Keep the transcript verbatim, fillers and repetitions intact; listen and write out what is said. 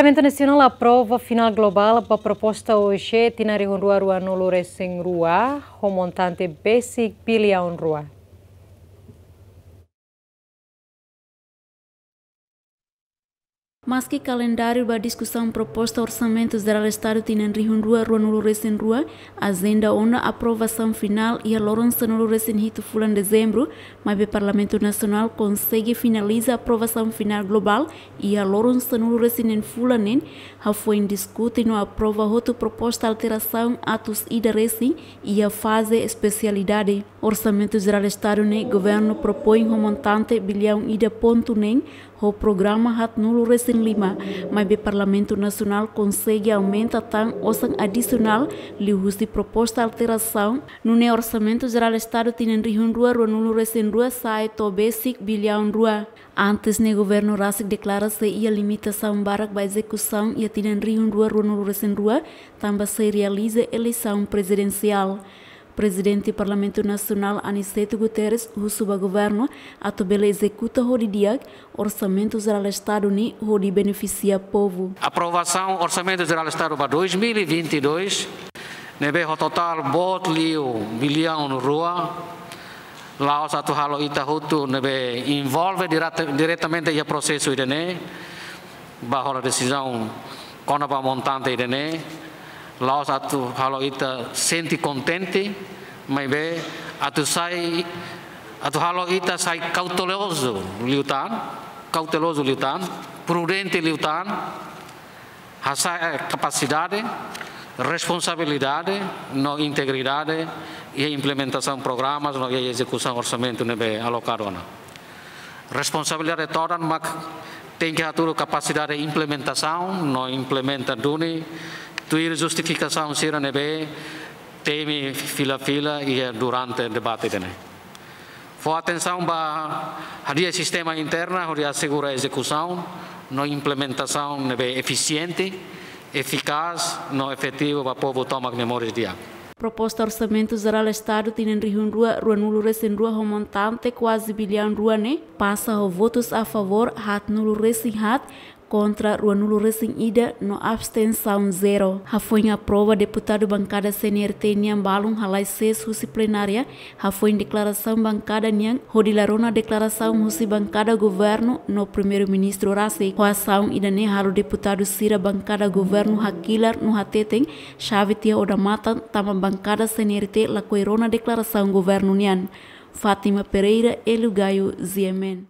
Parlamentu Nasionál aprova final globál ba proposta O E C tinan rihun rua ruanulu resin rua, ho montante besik biliaun rua. Maski kalendáriu ba diskusaun proposta Orsamentu Jerál Estadu tinan rihun rua ruanulu resin rua, ajenda ona aprovasaun final iha loron sanulu resin hitu fulan Dezembru, maibé Parlamentu Nasionál konsege finaliza aprovasaun final globál iha loron sanulu resin neen fulan neen, hafoin diskute no aprova hotu proposta alterasaun atus ida resin iha faze espesialidade. Orsamentu Jerál Estadu ne'e governu propoin ho montante biliaun ida pontu neen, ho programa haatnulu resin lima, maibé Parlamentu Nasionál konsege aumenta tan osan adisionál liuhusi proposta alterasaun, nune'e Orsamentu Jerál Estadu tinan rihun rua ruanulu resin rua sa'e to'o besik biliaun rua. Antes ne'e governu rasik deklara sei iha limitasaun barak ba ezekusaun iha tinan rihun rua ruanulu resin rua, tanba sei realiza eleisaun prezidensiál. Prezidente Parlamentu Nasionál Aniceto Guterres husu ba governu atu bele ezekuta ho di'ak Orsamentu Jerál Estadu ne'e hodi benefisia povu. Aprovasaun Orsamentu Jerál Estadu ba dois mil e vinte e dois, ne'ebé ho totál boot liu biliaun rua, la'ós atu halo ita hotu ne'ebé envolve direta-, diretamente iha prosesu ida-ne'e, ba hola desizaun kona-ba montante ida-ne'e, la'ós atu halo ita sente kontente, maibé atu sai, atu halo ita sai kautelozu liután, kautelozu liután, prudente liután, hasa'e kapasidade, responsabilidade no integridade iha implementasaun programas no iha ezekusaun orsamentu ne'ebé alokadu ona. Responsabilidade todan mak tenke hatudu kapasidade implementasaun no implementa duni tuir justifikasaun sira ne'ebé temi fila-fila iha durante debate ida-ne'e. Fó atensaun ba hadi'a sistema interna hodi asegura ezekusaun no implementasaun ne'ebé efisiente, efikás no efetivu ba povu tomak nia moris di'ak. Proposta Orsamentu Jerál Estadu tinan rihun rua ruanulu resin rua ho montante kuaze biliaun rua ne'e pasa ho votus a favór haatnulu resin haat, kontra ruanulu resin ida no abstensaun zero. Hafoin aprova, deputadu bankada C N R T nian balun halai sees husi plenária, hafoin deklarasaun bankada nian hodi la rona deklarasaun husi bankada governu no Primeiru-Ministru rasik. Ho asaun ida-ne'e halo deputadu sira bankada governu hakilar no hateten xave tiha odamatan tanba bankada C N R T lakohi rona deklarasaun governu nian. Fátima Pereira, Hélio Gaio, G M N.